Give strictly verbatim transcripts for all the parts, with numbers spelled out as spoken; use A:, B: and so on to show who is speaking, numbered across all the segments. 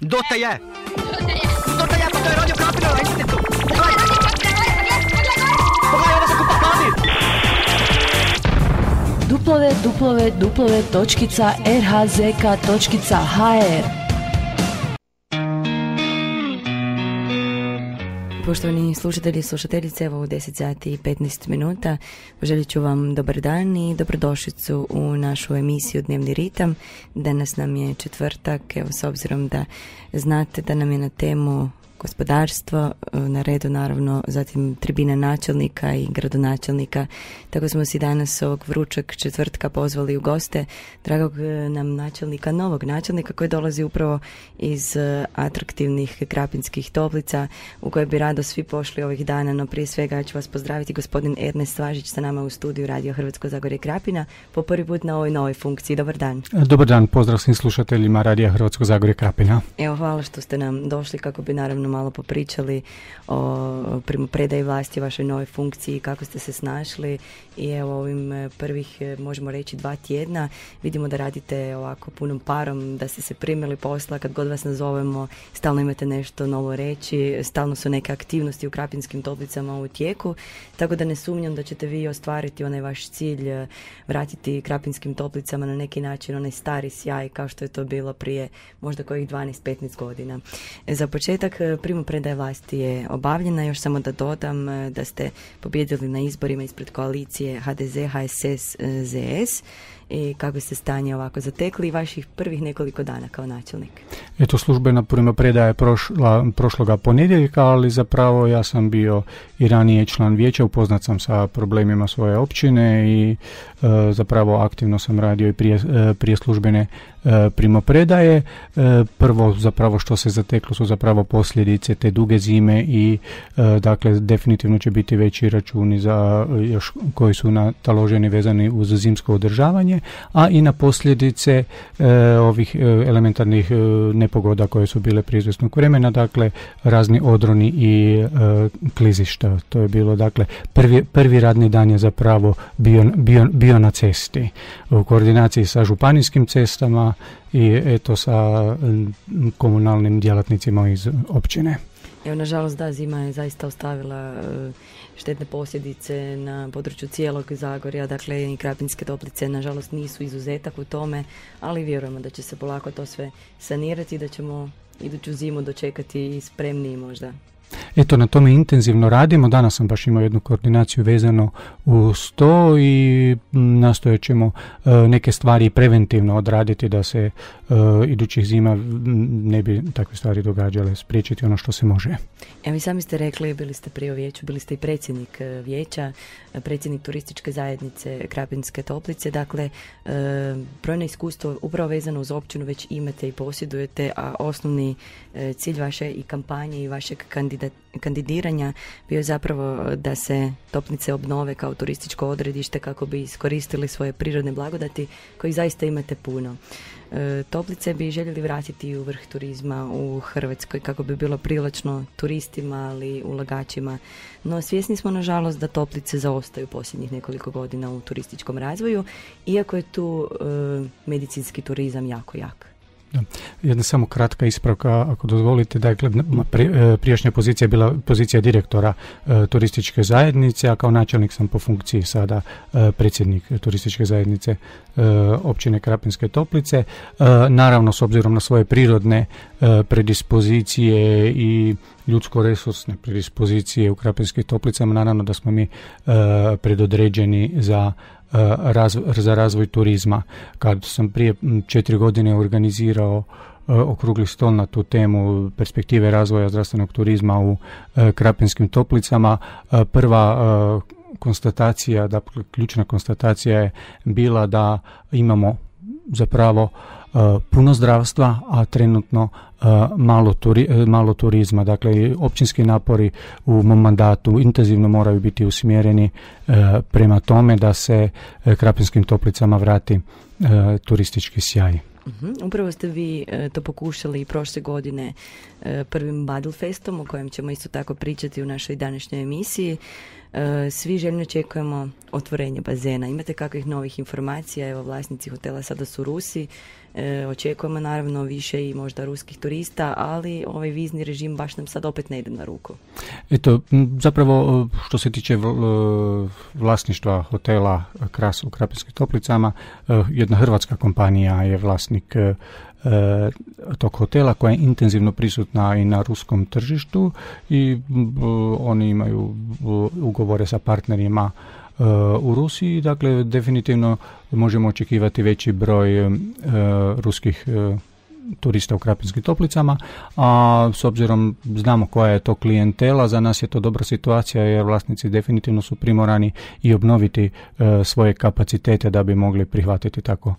A: Dote je! Dote je, pa to je Radio Krapina na internetu! Pogledaj! Pogledaj, ovo se kupa hladi!
B: duplove, duplove, duplove, točkica, rhzk, točkica, hr. Poštovani slušatelji i slušateljice, evo u deset sati i petnaest minuta poželit ću vam dobar dan i dobrodošlicu u našu emisiju Dnevni ritam. Danas nam je četvrtak, evo s obzirom da znate da nam je na temu gospodarstvo, na redu naravno zatim tribina načelnika i gradonačelnika, tako smo si danas ovog vrućeg četvrtka pozvali u goste dragog nam načelnika, novog načelnika koji dolazi upravo iz atraktivnih Krapinskih Toplica u koje bi rado svi pošli ovih dana, no prije svega ću vas pozdraviti gospodin Ernest Svažić sa nama u studiju Radio Hrvatsko Zagorje Krapina po prvi put na ovoj novoj funkciji. Dobar dan.
C: Dobar dan, pozdrav svim slušateljima Radio Hrvatsko Zagorje Krapina.
B: Evo, hvala što ste nam došli kako bi naravno malo popričali o primopredaji vlasti, vašoj novoj funkciji, kako ste se snašli i evo ovim prvih, možemo reći, dva tjedna vidimo da radite ovako punom parom, da ste se primili posla, kad god vas nazovemo stalno imate nešto novo reći, stalno su neke aktivnosti u Krapinskim Toplicama u tijeku, tako da ne sumnjam da ćete vi ostvariti onaj vaš cilj, vratiti Krapinskim Toplicama na neki način onaj stari sjaj kao što je to bilo prije možda kojih dvanaest petnaest godina. Za početak primopredaja vlasti je obavljena, još samo da dodam da ste pobijedili na izborima ispred koalicije ha de ze, ha es es, ze es i kako ste stanje ovako zatekli i vaših prvih nekoliko dana kao načelnik.
C: Eto, službena primopredaja je prošla, prošloga ponedjeljka, ali zapravo ja sam bio i ranije član vijeća, upoznat sam sa problemima svoje općine i e, zapravo aktivno sam radio i prije, e, prije službene e, primopredaje. E, prvo zapravo što se zateklo su zapravo posljedice te duge zime i e, dakle definitivno će biti veći računi za još koji su nataloženi vezani uz zimsko održavanje, a i na posljedice e, ovih e, elementarnih e, nepogoda koje su bile prije izvjesnog vremena, dakle razni odroni i e, klizišta. To je bilo, dakle, prvi, prvi radni dan je zapravo bio, bio, bio na cesti u koordinaciji sa županijskim cestama i eto sa komunalnim djelatnicima iz općine.
B: Evo, nažalost, da, zima je zaista ostavila uh, štetne posljedice na području cijelog Zagorja, dakle i Krapinske Toplice nažalost nisu izuzetak u tome, ali vjerujemo da će se polako to sve sanirati i da ćemo iduću zimu dočekati spremniji možda.
C: Eto, na tome intenzivno radimo. Danas sam baš imao jednu koordinaciju vezano uz to i nastojat ćemo uh, neke stvari preventivno odraditi da se uh, idućih zima ne bi takve stvari događale, spriječiti ono što se može.
B: Evo, i sami ste rekli, bili ste prije u vijeću, bili ste i predsjednik vijeća, predsjednik turističke zajednice Krapinske Toplice, dakle uh, brojno iskustvo upravo vezano uz općinu već imate i posjedujete, a osnovni uh, cilj vaše i kampanje i vašeg kandidata kandidiranja bio je zapravo da se Toplice obnove kao turističko odredište kako bi iskoristili svoje prirodne blagodati kojih zaista imate puno. E, Toplice bi željeli vratiti u vrh turizma u Hrvatskoj kako bi bilo privlačno turistima, ali ulagačima. No svjesni smo nažalost da Toplice zaostaju posljednjih nekoliko godina u turističkom razvoju, iako je tu e, medicinski turizam jako jak.
C: Jedna samo kratka ispravka, ako dozvolite. Dakle, prijašnja pozicija je bila pozicija direktora e, turističke zajednice, a kao načelnik sam po funkciji sada e, predsjednik turističke zajednice e, općine Krapinske Toplice. E, naravno, s obzirom na svoje prirodne e, predispozicije i ljudsko-resursne predispozicije u Krapinskim Toplicama, naravno da smo mi e, predodređeni za Razvoj, za razvoj turizma. Kad sam prije četiri godine organizirao uh, okrugli stol na tu temu perspektive razvoja zdravstvenog turizma u uh, Krapinskim Toplicama, uh, prva uh, konstatacija, dakle ključna konstatacija je bila da imamo zapravo uh, puno zdravstva, a trenutno uh, malo, turi, malo turizma. Dakle, općinski napori u mom mandatu intenzivno moraju biti usmjereni uh, prema tome da se uh, Krapinskim Toplicama vrati uh, turistički sjaj.
B: Uhum. Upravo ste vi e, to pokušali i prošle godine e, prvim Badlfestom, o kojem ćemo isto tako pričati u našoj današnjoj emisiji. E, svi željno očekujemo otvorenje bazena. Imate kakvih novih informacija? Evo, vlasnici hotela sada su Rusi. E, očekujemo naravno više i možda ruskih turista, ali ovaj vizni režim baš nam sad opet ne ide na ruku.
C: Eto, zapravo što se tiče vlasništva hotela Kras u Krapinskim Toplicama, jedna hrvatska kompanija je vlasnik tog hotela koja je intenzivno prisutna i na ruskom tržištu i oni imaju ugovore sa partnerima u Rusiji, dakle definitivno možemo očekivati veći broj uh, ruskih uh, turista u Krapinskim Toplicama, a s obzirom znamo koja je to klijentela, za nas je to dobra situacija jer vlasnici definitivno su primorani i obnoviti uh, svoje kapacitete da bi mogli prihvatiti tako uh,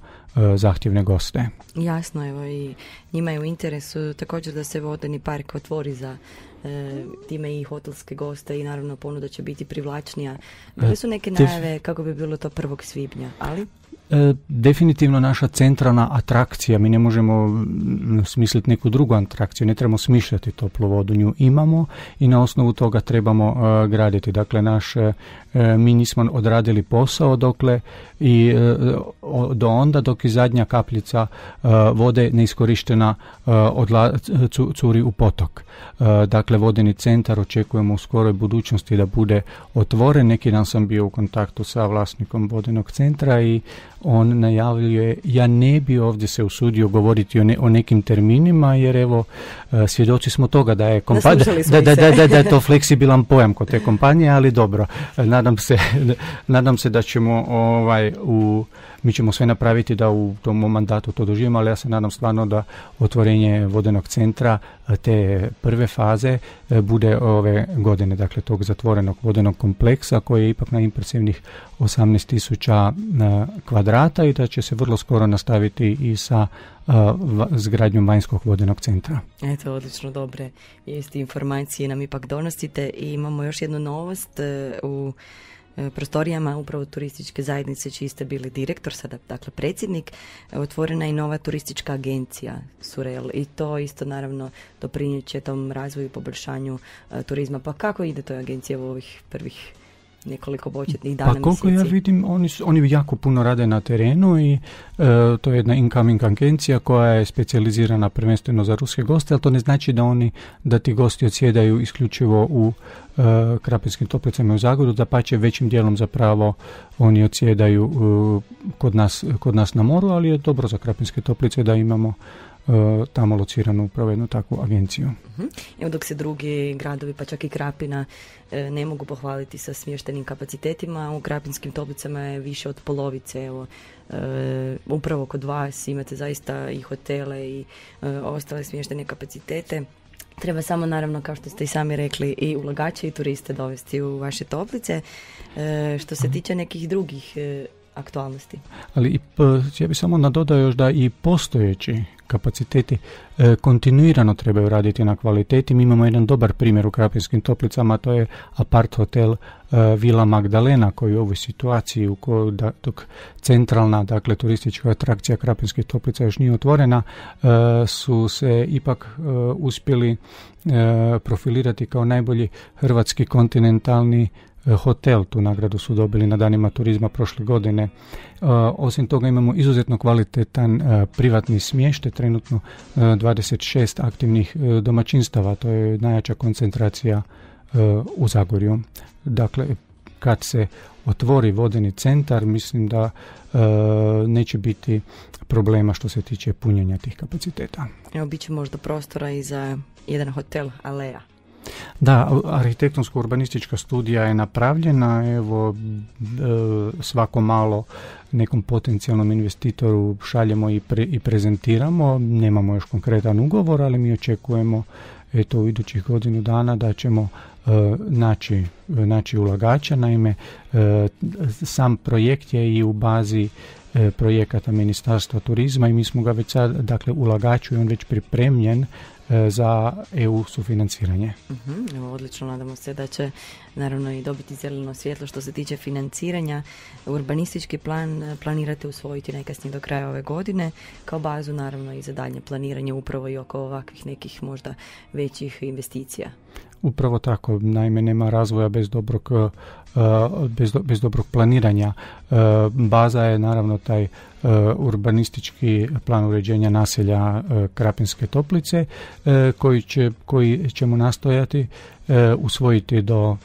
C: zahtjevne goste.
B: Jasno, evo i njima je u interesu također da se vodeni park otvori za e, time i hotelske goste i naravno ponuda će biti privlačnija. Bile su neke najave kako bi bilo to prvog svibnja, ali...
C: E, definitivno naša centralna atrakcija, mi ne možemo smisliti neku drugu atrakciju, ne trebamo smišljati toplu vodu, nju imamo i na osnovu toga trebamo uh, graditi. Dakle, naš, uh, mi nismo odradili posao dokle i uh, do onda dok i zadnja kapljica uh, vode neiskorištena uh, odla, cu, curi u potok. Uh, dakle, vodeni centar očekujemo u skoroj budućnosti da bude otvoren. Neki dan sam bio u kontaktu sa vlasnikom vodenog centra i on najavljuje, ja ne bi ovdje se usudio govoriti o, ne, o nekim terminima, jer evo, svjedoci smo toga da je kompanija, da, da, da, da, da je to fleksibilan pojam kod te kompanije, ali dobro, nadam se, nadam se da ćemo ovaj, u, mi ćemo sve napraviti da u tom mandatu to doživimo, ali ja se nadam stvarno da otvorenje vodenog centra te prve faze bude ove godine, dakle tog zatvorenog vodenog kompleksa koji je ipak na impresivnih osamnaest tisuća kvadrata i da će se vrlo skoro nastaviti i sa zgradnjom vanjskog vodenog centra.
B: Eto, odlično, dobre vijesti, informacije nam ipak donosite i imamo još jednu novost u prostorijama upravo turističke zajednice čiji ste bili direktor, sada dakle predsjednik, otvorena je i nova turistička agencija Surel i to isto naravno doprinijet će tom razvoju i poboljšanju uh, turizma. Pa kako ide toj agenciji u ovih prvih nekoliko početnih dana,
C: pa koliko
B: mjeseci?
C: Ja vidim, oni, oni jako puno rade na terenu i e, to je jedna incoming agencija koja je specijalizirana prvenstveno za ruske goste, ali to ne znači da oni, da ti gosti odsjedaju isključivo u e, Krapinskim Toplicama i u Zagorju, da pače većim dijelom zapravo oni odsjedaju e, kod nas, kod nas na moru, ali je dobro za Krapinske Toplice da imamo tamo lociranu upravo jednu takvu agenciju.
B: Uh-huh. Evo dok se drugi gradovi, pa čak i Krapina, ne mogu pohvaliti sa smještenim kapacitetima, u Krapinskim Toplicama je više od polovice. Evo, e, upravo kod vas imate zaista i hotele i e, ostale smještene kapacitete. Treba samo, naravno, kao što ste i sami rekli, i ulagače i turiste dovesti u vaše toplice. E, što se tiče nekih drugih e, aktualnosti.
C: Ali i, ja bih samo nadodao još da i postojeći kapaciteti e, kontinuirano trebaju raditi na kvaliteti. Mi imamo jedan dobar primjer u Krapinskim Toplicama, to je apart hotel e, Vila Magdalena koji u ovoj situaciji u kojoj da, dok centralna, dakle turistička atrakcija Krapinskih Toplica još nije otvorena, e, su se ipak e, uspjeli e, profilirati kao najbolji hrvatski kontinentalni hotel. Tu nagradu su dobili na danima turizma prošle godine. Uh, osim toga imamo izuzetno kvalitetan uh, privatni smještaj, trenutno uh, dvadeset šest aktivnih uh, domaćinstava, to je najjača koncentracija uh, u Zagorju. Dakle, kad se otvori vodeni centar, mislim da uh, neće biti problema što se tiče punjenja tih kapaciteta.
B: Evo, bit će možda prostora i za jedan hotel Aleja.
C: Da, arhitektonsko-urbanistička studija je napravljena, evo svako malo nekom potencijalnom investitoru šaljemo i, pre, i prezentiramo, nemamo još konkretan ugovor, ali mi očekujemo eto u idućih godinu dana da ćemo uh, naći, naći ulagača, naime uh, sam projekt je i u bazi uh, projekata Ministarstva turizma i mi smo ga već sad, dakle ulagaču je on već pripremljen za E U sufinanciranje.
B: Uh-huh, evo, odlično, nadamo se da će naravno i dobiti zeleno svjetlo što se tiče financiranja. Urbanistički plan planirate usvojiti najkasnije do kraja ove godine, kao bazu naravno i za daljnje planiranje upravo i oko ovakvih nekih možda većih investicija.
C: Upravo tako, naime nema razvoja bez dobrog, uh, bez, do, bez dobrog planiranja. Uh, baza je naravno taj urbanistički plan uređenja naselja Krapinske Toplice koji, će, koji ćemo nastojati usvojiti do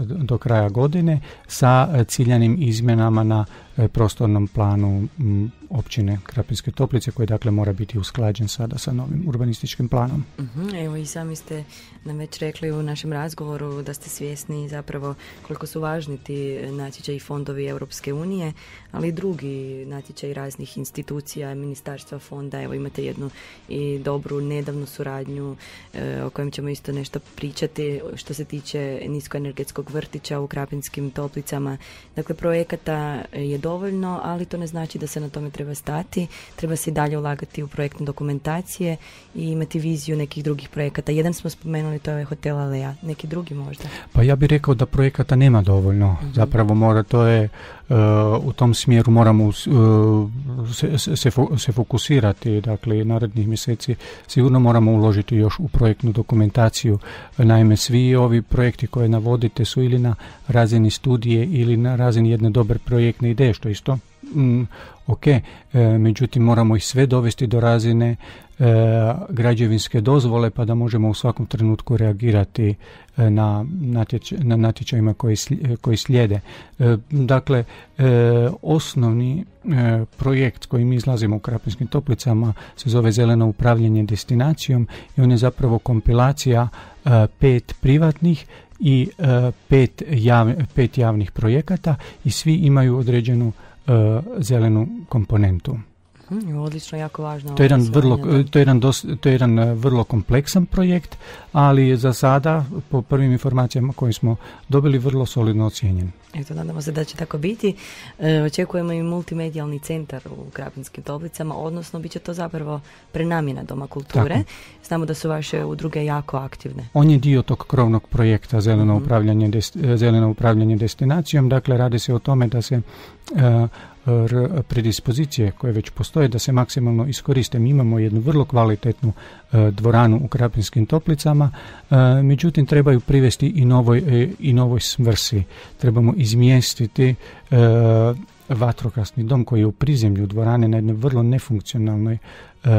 C: do kraja godine sa ciljanim izmjenama na prostornom planu općine Krapinske Toplice koji dakle mora biti usklađen sada sa novim urbanističkim planom.
B: Uh-huh. Evo i sami ste nam već rekli u našem razgovoru da ste svjesni zapravo koliko su važni ti natječaji i fondovi Europske unije, ali i drugi natječaji raznih institucija, ministarstva, fonda. Evo imate jednu i dobru nedavnu suradnju e, o kojem ćemo isto nešto pričati što se tiče niskoenergetskog vrtića u Krapinskim Toplicama. Dakle, projekata je dovoljno, ali to ne znači da se na tome treba stati. Treba se i dalje ulagati u projektne dokumentacije i imati viziju nekih drugih projekata. Jedan smo spomenuli, to je Hotel Alea. Neki drugi možda?
C: Pa ja bih rekao da projekata nema dovoljno. Mm-hmm. Zapravo mora, to je uh, u tom smjeru moramo uh, se, se, se fokusirati. Dakle, narednih mjeseci sigurno moramo uložiti još u projektnu dokumentaciju. Naime, svi ovi projekti koje navodite su ili na razini studije ili na razini jedne dobre projektne ideje, što isto mm, ok, e, međutim moramo ih sve dovesti do razine e, građevinske dozvole pa da možemo u svakom trenutku reagirati e, na, natječ, na natječajima koji, sli, koji slijede. E, dakle, e, osnovni e, projekt koji mi izlazimo u Krapinskim Toplicama se zove Zeleno upravljanje destinacijom i on je zapravo kompilacija e, pet privatnih i uh, pet, jav, pet javnih projekata i svi imaju određenu uh, zelenu komponentu.
B: Hmm, odlično, jako važno.
C: To je jedan vrlo, to je jedan, dos, to je jedan uh, vrlo kompleksan projekt, ali za sada, po prvim informacijama koje smo dobili, vrlo solidno ocijenjen.
B: Eto, nadamo se da će tako biti. E, očekujemo i multimedijalni centar u Krapinskim Toplicama, odnosno bit će to zapravo prenamjena Doma kulture. Tako. Znamo da su vaše udruge jako aktivne.
C: On je dio tog krovnog projekta Zeleno, mm-hmm. upravljanje, dest, zeleno upravljanje destinacijom. Dakle, radi se o tome da se uh, r, predispozicije koje već postoje, da se maksimalno iskoriste. Mi imamo jednu vrlo kvalitetnu uh, dvoranu u Krapinskim Toplicama, uh, međutim trebaju privesti i novoj, uh, i novoj svrsi. Trebamo izmjestiti uh, vatrogasni dom koji je u prizemlju dvorane na jednoj vrlo nefunkcionalnoj uh,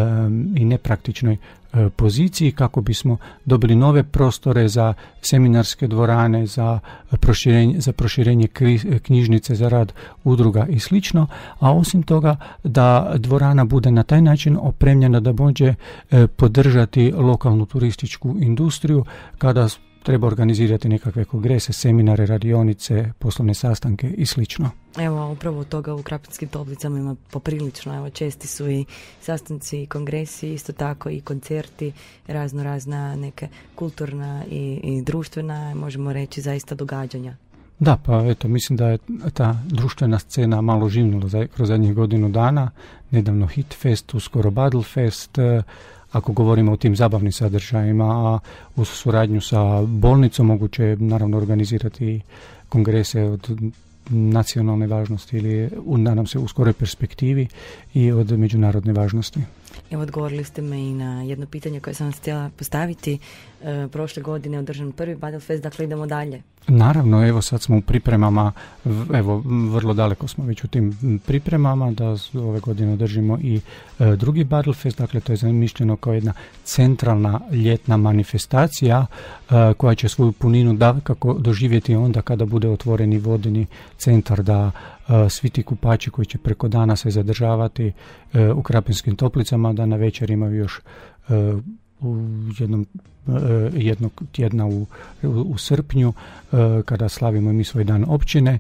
C: i nepraktičnoj uh, poziciji kako bismo dobili nove prostore za seminarske dvorane, za proširenje, za proširenje kri, knjižnice, za rad udruga i slično, a osim toga da dvorana bude na taj način opremljena da može uh, podržati lokalnu turističku industriju kada treba organizirati nekakve kongrese, seminare, radionice, poslovne sastanke i slično.
B: Evo, upravo toga u Krapinskim Toplicama ima poprilično. Evo, česti su i sastanci i kongresi, isto tako i koncerti, razno razna neke kulturna i, i društvena, možemo reći, zaista događanja.
C: Da, pa eto, mislim da je ta društvena scena malo živnula za, kroz zadnjih godinu dana. Nedavno Hitfest, uskoro Battlefest, ako govorimo o tim zabavnim sadržajima, a uz suradnju sa bolnicom moguće je naravno organizirati kongrese od nacionalne važnosti ili nadam se u skoroj perspektivi i od međunarodne važnosti.
B: Evo, odgovorili ste me i na jedno pitanje koje sam vas htjela postaviti. E, prošle godine je održan prvi Battlefest, dakle idemo dalje.
C: Naravno, evo sad smo u pripremama, evo vrlo daleko smo već u tim pripremama da ove godine održimo i e, drugi Battlefest, dakle to je zamišljeno kao jedna centralna ljetna manifestacija e, koja će svoju puninu da, kako doživjeti onda kada bude otvoreni vodeni centar, da e, svi ti kupači koji će preko dana se zadržavati e, u Krapinskim Toplicama, da na večer imaju još e, u jednom jednog tjedna u, u, u srpnju kada slavimo mi svoj dan općine,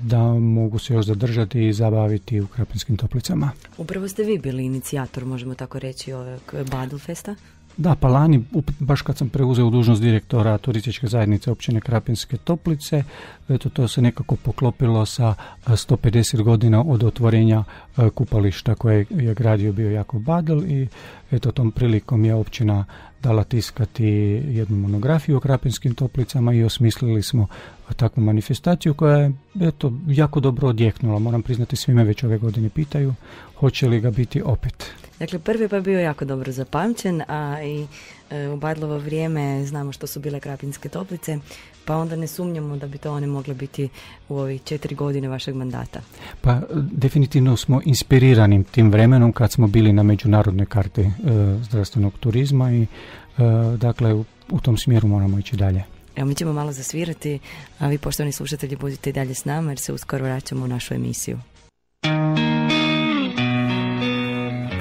C: da mogu se još zadržati i zabaviti u Krapinskim Toplicama.
B: Upravo ste vi bili inicijator, možemo tako reći, ovog Battlefesta?
C: Da, pa lani, baš kad sam preuzeo dužnost direktora turističke zajednice općine Krapinske Toplice, eto, to se nekako poklopilo sa sto pedeset godina od otvorenja kupališta koje je gradio bio Jakov Badl i eto, tom prilikom je općina dala tiskati jednu monografiju o Krapinskim Toplicama i osmislili smo takvu manifestaciju koja je eto, jako dobro odjeknula. Moram priznati, svi me već ove godine pitaju hoće li ga biti opet.
B: Dakle, prvi pa je bio jako dobro zapamćen, a i e, u Badlovo vrijeme znamo što su bile Krapinske toplice, pa onda ne sumnjamo da bi to one mogle biti u ovih četiri godine vašeg mandata.
C: Pa definitivno smo inspirirani tim vremenom kad smo bili na međunarodnoj karti e, zdravstvenog turizma i e, dakle u, u tom smjeru moramo ići dalje.
B: Evo, mi ćemo malo zasvirati, a vi, poštovani slušatelji, budite i dalje s nama jer se uskoro vraćamo u našu emisiju.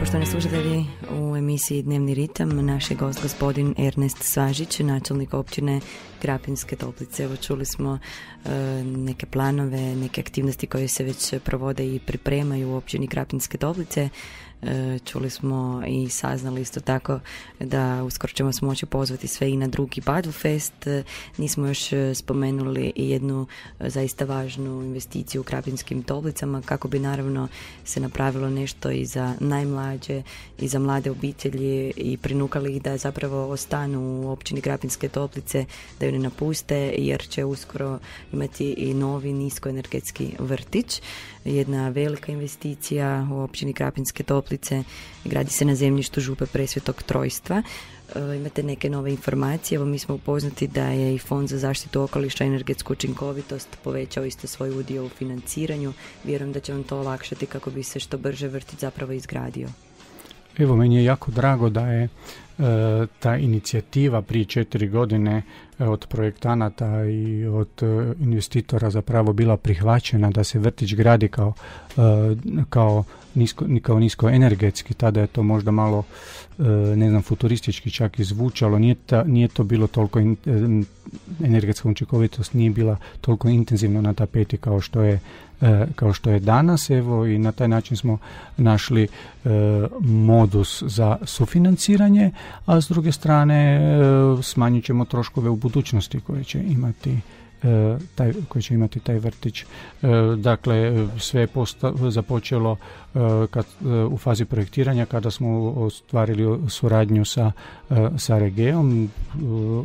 B: Poštovani slušatelji, u emisiji Dnevni ritam naš je gost gospodin Ernest Svažić, načelnik općine Krapinske toplice. Evo, čuli smo e, neke planove, neke aktivnosti koje se već provode i pripremaju u općini Krapinske toplice. E, čuli smo i saznali isto tako da uskoro ćemo se moći pozvati sve i na drugi Badl Fest. E, nismo još spomenuli i jednu e, zaista važnu investiciju u Krapinskim toplicama kako bi naravno se napravilo nešto i za najmlađe i za mlade obitelji i prinukali ih da zapravo ostanu u općini Krapinske toplice, da ju ne napuste, jer će uskoro imati i novi niskoenergetski vrtić. Jedna velika investicija u općini Krapinske toplice, gradi se na zemljištu Župe Presvetog Trojstva. E, imate neke nove informacije, evo mi smo upoznati da je i Fond za zaštitu okoliša i energetsku učinkovitost povećao isto svoj udio u financiranju. Vjerujem da će vam to olakšati kako bi se što brže vrtić zapravo izgradio.
C: Evo, meni je jako drago da je e, ta inicijativa prije četiri godine e, od projektanata i od e, investitora zapravo bila prihvaćena da se vrtić gradi kao, e, kao, nisko, kao niskoenergetski. Tada je to možda malo e, ne znam, futuristički čak i zvučalo. Nije, ta, nije to bilo toliko in, e, energetska učinkovitost nije bila toliko intenzivno na tapeti kao što je kao što je danas, evo, i na taj način smo našli e, modus za sufinanciranje, a s druge strane e, smanjit ćemo troškove u budućnosti koje će imati e, taj, koji će imati taj vrtić. E, dakle, sve je posta, započelo e, kad, e, u fazi projektiranja kada smo ostvarili suradnju sa, e, sa Regeom e,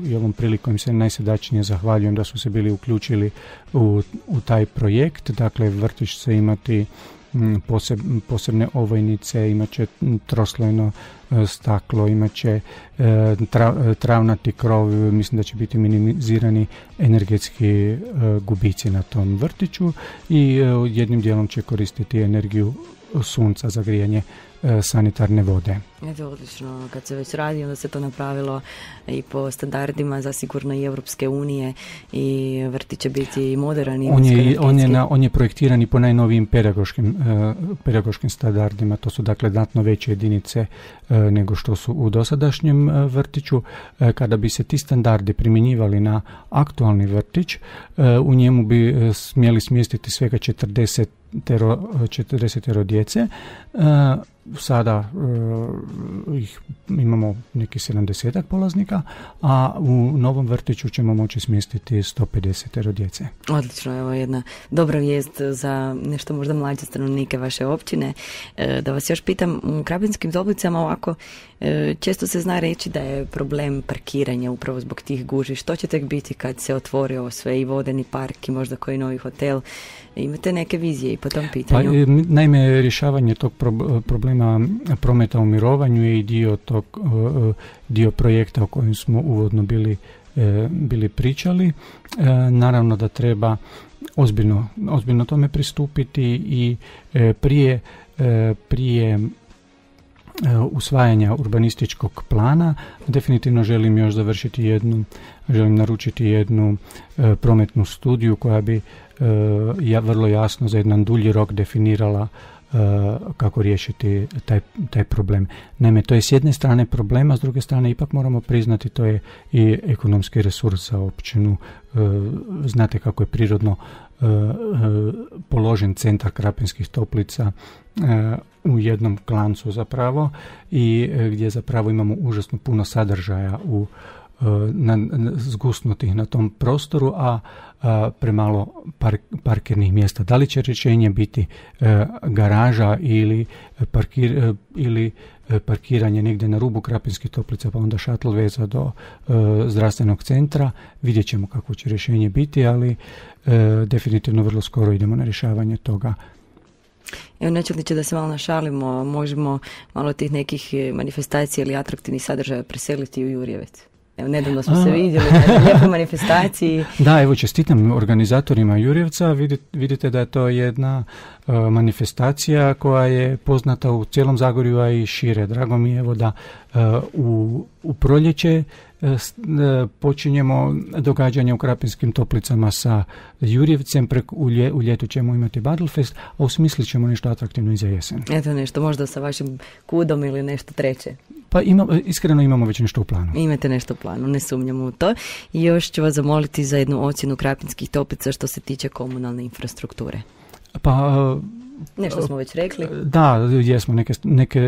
C: i ovom prilikom im se najsrdačnije zahvaljujem da su se bili uključili u, u taj projekt. Dakle, vrtić će imati Poseb, posebne ovojnice, imat će troslojno e, staklo, imat će e, tra, travnati krov, mislim da će biti minimizirani energetski e, gubici na tom vrtiću i e, jednim dijelom će koristiti energiju sunca za grijanje e, sanitarne vode.
B: Eto, odlično, kad se već radi, onda se to napravilo i po standardima zasigurno i Europske unije i vrtić će biti moderan i
C: on je, on je, na, on je projektiran i po najnovijim pedagoškim, uh, pedagoškim standardima, to su dakle znatno veće jedinice uh, nego što su u dosadašnjem uh, vrtiću. Uh, kada bi se ti standardi primjenjivali na aktualni vrtić, uh, u njemu bi uh, smjeli smjestiti svega četrdeset četrdeset djece. Uh, sada uh, ih imamo neki sedamdesetak polaznika, a u novom vrtiću ćemo moći smjestiti sto pedeset djece.
B: Odlično, evo jedna dobra vijest za nešto možda mlađe stanovnike vaše općine. E, da vas još pitam, u Krapinskim toplicama ovako e, često se zna reći da je problem parkiranja upravo zbog tih gužvi. Što će tek biti kad se otvori ovo sve i vodeni park i možda koji novi hotel? Imate neke vizije i po tom pitanju?
C: Pa, naime, rješavanje tog pro- problema prometa u mirovanju je i dio tog dio projekta o kojem smo uvodno bili, bili pričali. Naravno da treba ozbiljno, ozbiljno tome pristupiti i prije, prije usvajanja urbanističkog plana definitivno želim još završiti jednu, želim naručiti jednu prometnu studiju koja bi ja vrlo jasno za jedan dulji rok definirala Uh, kako riješiti taj, taj problem. Naime, to je s jedne strane problema, s druge strane ipak moramo priznati to je i ekonomski resurs za općinu. Uh, znate kako je prirodno uh, uh, položen centar Krapinskih toplica uh, u jednom klancu zapravo i uh, gdje zapravo imamo užasno puno sadržaja u na, na, zgusnutih na tom prostoru, a, a premalo par, parkirnih mjesta. Da li će rješenje biti e, garaža ili, parkir, e, ili parkiranje negdje na rubu Krapinskih Toplica, pa onda šatl veza do e, zdravstvenog centra. Vidjet ćemo kako će rješenje biti, ali e, definitivno vrlo skoro idemo na rješavanje toga.
B: Evo, načelniče, da se malo našalimo, možemo malo tih nekih manifestacija ili atraktivnih sadržaja preseliti u Jurjevec. Evo, nedavno smo A. se vidjeli na lijepoj manifestaciji.
C: Da, evo, čestitam organizatorima Jurjevca. Vidite, vidite da je to jedna uh, manifestacija koja je poznata u cijelom Zagorju, a i šire. Drago mi je, evo, da uh, u, u proljeće uh, počinjemo događanje u Krapinskim Toplicama sa Jurjevcem. Preko, u, lje, u ljetu ćemo imati Battlefest, a usmislit ćemo nešto atraktivno i za jesen.
B: Eto nešto, možda sa vašim kudom ili nešto treće.
C: Pa ima, iskreno imamo već nešto u planu.
B: Imate nešto u planu, ne sumnjamo u to. I još ću vas zamoliti za jednu ocjenu Krapinskih Toplica što se tiče komunalne infrastrukture.
C: Pa...
B: Nešto smo već rekli.
C: Da, jesmo, neke, neke,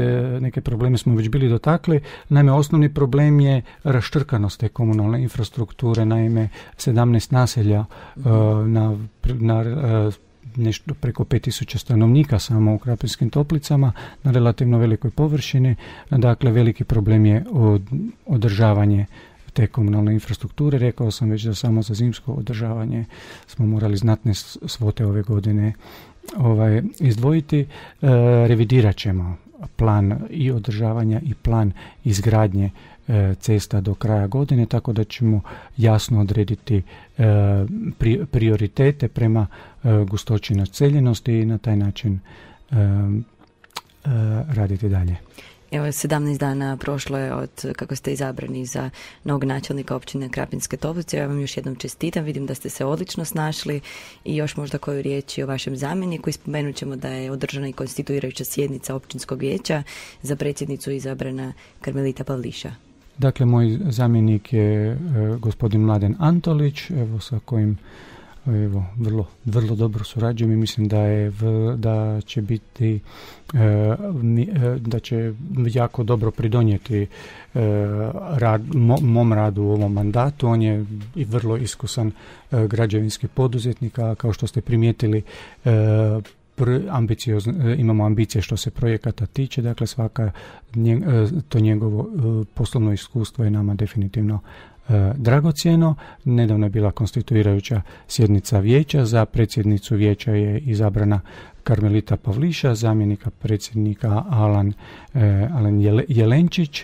C: neke probleme smo već bili dotakli. Naime, osnovni problem je raštrkanost te komunalne infrastrukture. Naime, sedamnaest naselja mm-hmm. uh, na... na uh, nešto preko pet tisuća stanovnika samo u Krapinskim Toplicama na relativno velikoj površini. Dakle, veliki problem je od, održavanje te komunalne infrastrukture. Rekao sam već da samo za zimsko održavanje smo morali znatne svote ove godine ovaj, izdvojiti. E, revidirat ćemo plan i održavanja i plan izgradnje e, cesta do kraja godine, tako da ćemo jasno odrediti e, pri, prioritete prema e, gustoći naseljenosti i na taj način e, e, raditi dalje.
B: Evo, sedamnaest dana prošlo je od kako ste izabrani za novog načelnika općine Krapinske Toplice. Ja vam još jednom čestitam, vidim da ste se odlično snašli i još možda koju riječ o vašem zamjeniku. Spomenut ćemo da je održana i konstituirajuća sjednica općinskog vijeća, za predsjednicu izabrana Karmelita Pavliša.
C: Dakle, moj zamjenik je e, gospodin Mladen Antolić, evo, sa kojim evo, vrlo, vrlo dobro surađujem i mislim da je v, da će biti e, da će jako dobro pridonijeti e, rad, mo, mom radu u ovom mandatu. On je i vrlo iskusan e, građevinski poduzetnik, a kao što ste primijetili e, ambiciozno, imamo ambicije što se projekata tiče, dakle svaka nje, to njegovo poslovno iskustvo je nama definitivno e, dragocjeno. Nedavno je bila konstituirajuća sjednica vijeća, za predsjednicu vijeća je izabrana Karmelita Pavliša, zamjenika predsjednika Alan, e, Alan Jele, Jelenčić.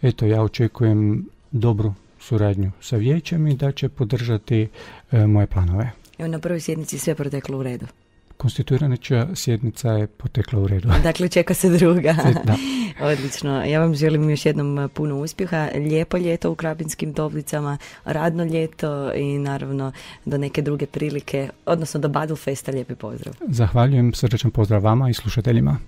C: Eto, ja očekujem dobru suradnju sa vijećem i da će podržati e, moje planove.
B: Evo, na prvoj sjednici sve proteklo u redu.
C: Konstituirajuća sjednica je potekla u redu.
B: Dakle, čeka se druga.
C: Da.
B: Odlično. Ja vam želim još jednom puno uspjeha. Lijepo ljeto u Krapinskim Toplicama, radno ljeto i naravno do neke druge prilike, odnosno do Battlefesta. Lijepi pozdrav.
C: Zahvaljujem, srdačan pozdrav vama i slušateljima.